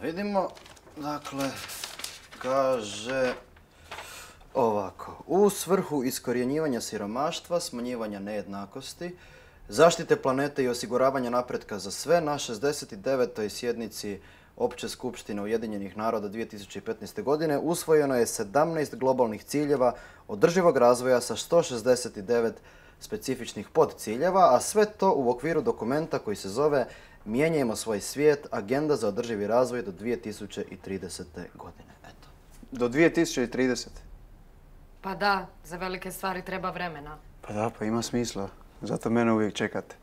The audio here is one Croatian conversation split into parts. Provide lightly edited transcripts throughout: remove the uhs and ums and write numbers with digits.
vidimo. Dakle, kaže ovako. U svrhu iskorjenjivanja siromaštva, smanjivanja nejednakosti, zaštite planete i osiguravanja napretka za sve, na 69. sjednici Opće skupštine Ujedinjenih naroda 2015. godine usvojeno je 17 globalnih ciljeva održivog razvoja sa 169 specifičnih podciljeva, a sve to u okviru dokumenta koji se zove Mijenjajmo svoj svijet, agenda za održivi razvoj do 2030. godine. Eto. Do 2030. Pa da, za velike stvari treba vremena. Pa da, pa ima smisla. Zato mene uvijek čekate.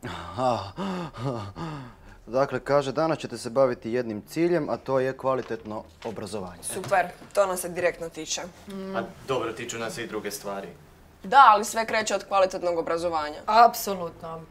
Dakle, kaže, danas ćete se baviti jednim ciljem, a to je kvalitetno obrazovanje. Super, to nas se direktno tiče. A dobro, tiču nas i druge stvari. Da, ali sve kreće od kvalitetnog obrazovanja. Apsolutno.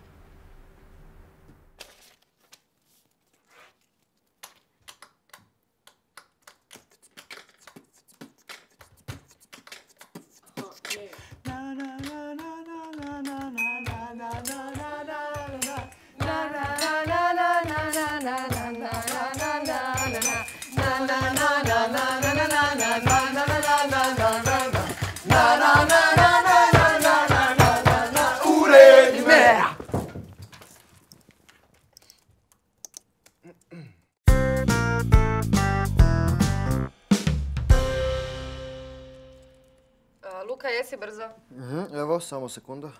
Luka, jesi brzo? Evo, samo sekunda.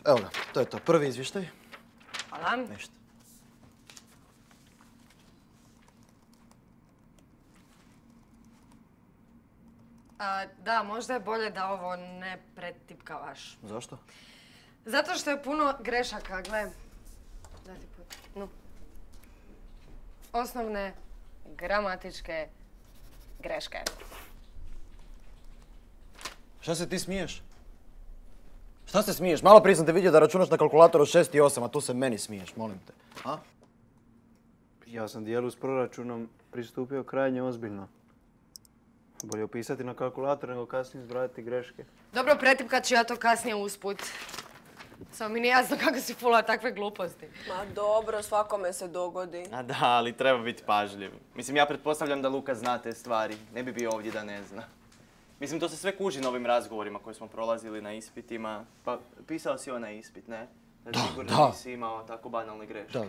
Evo ga, to je to. Prvi izvještaj. Hvala. Ništa. Da, možda je bolje da ovo ne pretipkavaš. Zašto? Zato što je puno grešaka, gle. Osnovne gramatičke greške. Šta se ti smiješ? Šta se smiješ? Malo prije sam te vidio da računaš na kalkulatoru 6 i 8, a tu se meni smiješ, molim te. A? Ja sam dijelu s proračunom pristupio krajnje ozbiljno. Bolje upisati na kalkulator nego kasnije zbrajati greške. Dobro, pretipkat ću ja to kasnije usput. Samo mi nije jasno kako si fulao takve gluposti. Ma dobro, svakome se dogodi. A da, ali treba biti pažljiv. Mislim, ja pretpostavljam da Luka zna te stvari. Ne bi bio ovdje da ne zna. Mislim, to se sve kuži na ovim razgovorima koje smo prolazili na ispitima. Pa, pisao si onaj ispit, ne? Sigurno nisi imao tako banalne greške. Da.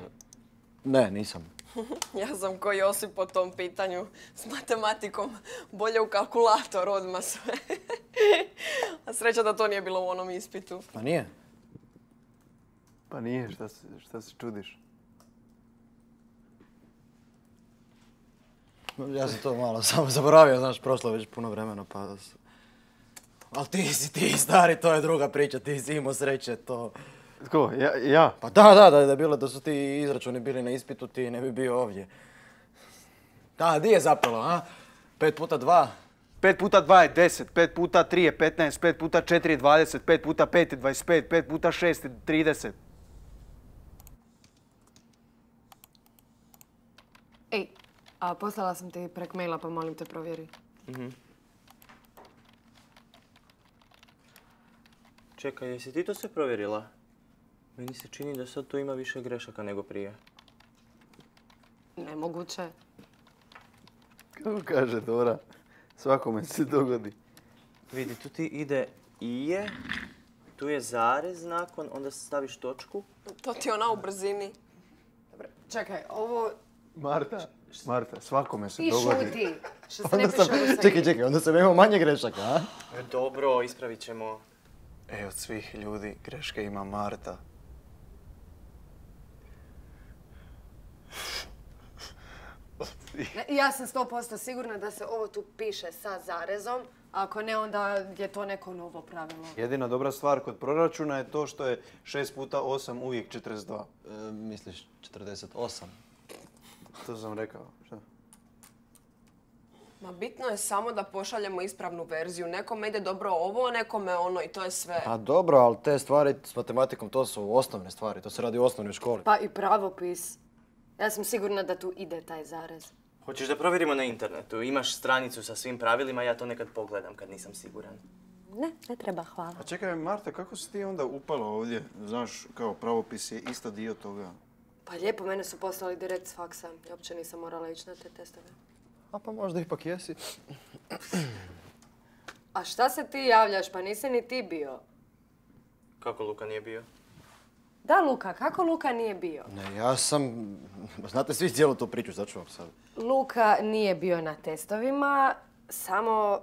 Ne, nisam. Ja sam ko Josip po tom pitanju. S matematikom bolje u kalkulator odmah sve. A sreća da to nije bilo u onom ispitu. Pa nije? Pa nije, šta se čudiš? Ja sam to malo samo zaboravio, znaš, prošlo je već puno vremena, pa... Ali ti stari, to je druga priča, ti si imao sreće, to... Tko? Ja? Pa da je bilo da su ti izračuni bili na ispitu, ti ne bi bio ovdje. Da, di je zapelo, a? 5 puta 2? 5 puta 2 je 10, 5 puta 3 je 15, 5 puta 4 je 20, 5 puta 5 je 25, 5 puta 6 je 30. Ej, a poslala sam ti prek maila, pa molim te provjeri. Čekaj, jesi ti to sve provjerila? Meni se čini da sad tu ima više grešaka nego prije. Nemoguće. Kako kaže Dora, svakome se dogodi. Vidi, tu ti ide ije, tu je zarez nakon, onda staviš točku. To ti je ona u brzini. Dobro, čekaj, ovo... Marta, svakome se I dogodi. šuti, što se ne piše u sebi. Čekaj, onda sam imao manje grešaka, a? Dobro, ispravit ćemo. Od svih ljudi greške ima Marta. Ja sam 100% sigurna da se ovo tu piše sa zarezom. Ako ne, onda je to neko novo pravilo. Jedina dobra stvar kod proračuna je to što je 6 puta 8 uvijek 42. Misliš 48? To sam rekao. Šta? Ma bitno je samo da pošaljemo ispravnu verziju. Nekome ide dobro ovo, nekome ono i to je sve. Pa dobro, ali te stvari s matematikom, to su osnovne stvari. To se radi u osnovnoj školi. Pa i pravopis. Ja sam sigurna da tu ide taj zarez. Hoćeš da provjerimo na internetu? Imaš stranicu sa svim pravilima, ja to nekad pogledam kad nisam siguran. Ne treba, hvala. A čekaj, Marta, kako si ti onda upala ovdje? Znaš, kao pravopis je isto dio toga. Pa lijepo, mene su poslali direkt s faksa. Ja uopće nisam morala ići na te testove. A pa možda ipak jesi. A šta se ti javljaš? Pa nisi ni ti bio. Kako Luka nije bio? Da, Luka, kako Luka nije bio? Ne, ja sam... Znate svi cijelu tu priču, sad ću vam sad. Luka nije bio na testovima, samo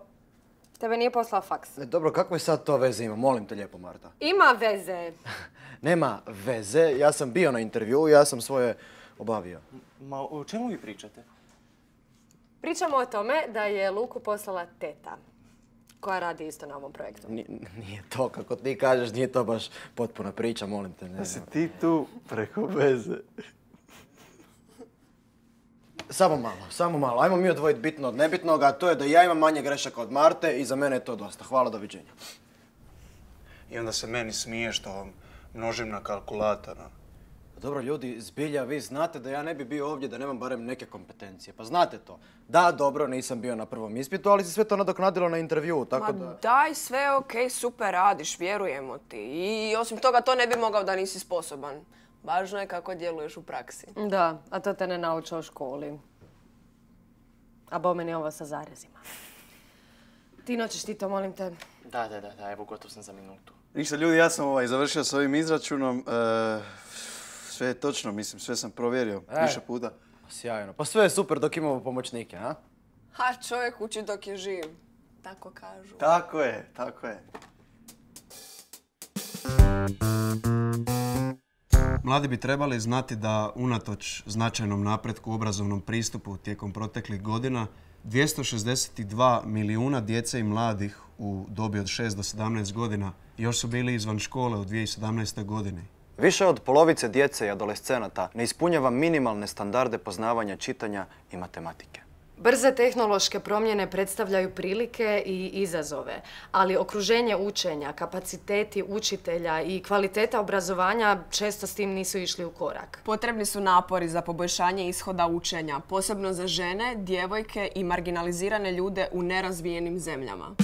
tebe nije poslao faks. Dobro, kakve sad to veze ima? Molim te lijepo, Marta. Ima veze. Nema veze, ja sam bio na intervjuu, ja sam svoje obavio. Ma o čemu vi pričate? Pričamo o tome da je Luku poslala teta, koja radi isto na ovom projektu. Nije to, kako ti kažeš, nije to baš potpuna priča, molim te. Ne, Da si ti tu preko veze. Samo malo. Ajmo mi odvojiti bitno od nebitnog, a to je da ja imam manje grešaka od Marte i za mene je to dosta. Hvala, doviđenja. I onda se meni smije što množim na kalkulator. Dobro, ljudi, zbilja, vi znate da ja ne bi bio ovdje da nemam barem neke kompetencije. Pa znate to. Da, dobro, nisam bio na prvom ispitu, ali se sve to nadoknadilo na intervjuu, tako da... Ma daj, sve je okej, super radiš, vjerujemo ti. I osim toga to ne bi mogao da nisi sposoban. Važno je kako djeluješ u praksi. Da, a to te ne nauče u školi. A bo meni ovo sa zarezima. Ti noćeš ti to, molim te. Da, evo gotov sam za minutu. Ništa, ljudi, ja sam završio s ovim izračunom. Sve je točno, mislim, sve sam provjerio više puta. Sjajno. Pa sve je super dok imamo pomoćnike, a? Ha, čovjek uči dok je živ. Tako kažu. Tako je, tako je. Mladi bi trebali znati da unatoč značajnom napretku u obrazovnom pristupu tijekom proteklih godina 262 milijuna djece i mladih u dobi od 6 do 17 godina još su bili izvan škole u 2017. godini. Više od polovice djece i adolescenata ne ispunjava minimalne standarde poznavanja čitanja i matematike. Brze tehnološke promjene predstavljaju prilike i izazove, ali okruženje učenja, kapaciteti učitelja i kvaliteta obrazovanja često s tim nisu išli u korak. Potrebni su napori za poboljšanje ishoda učenja, posebno za žene, djevojke i marginalizirane ljude u nerazvijenim zemljama.